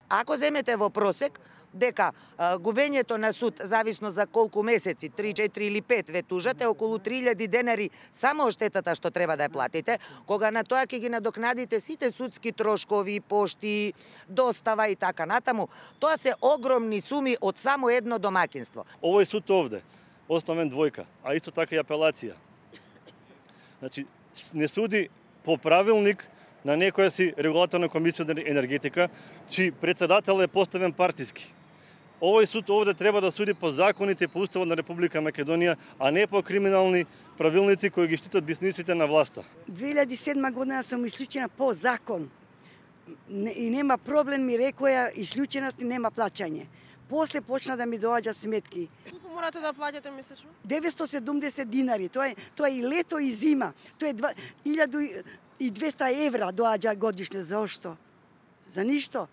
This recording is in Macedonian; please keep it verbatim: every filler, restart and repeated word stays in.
Ако земете во просек, дека а, губењето на суд, зависно за колку месеци, три, четири или пет, ве тужате, околу три илјади денари само штетата што треба да ја платите, кога на тоа ќе ги надокнадите сите судски трошкови, пошти, достава и така натаму, тоа се огромни суми од само едно домаќинство. Овој суд овде, оставен двојка, а исто така и апелација. Значи, не суди по правилник на некоја си регулаторна комисија за енергетика, чиј председател е поставен партиски. Овој суд овде треба да суди по законите и по Уставот на Република Македонија, а не по криминални правилници кои ги штитат бизнисите на власта. две илјади и седма година сум исклучена по закон. И нема проблем, ми рекоја, исклученост и нема плаќање. После почна да ми доаѓа сметки. Колку морате да плаќате месечно? деветстотини и седумдесет динари. Тоа е тоа е и лето и зима. Тоа е илјада и двеста евра доаѓа годишно. Зошто? За ништо.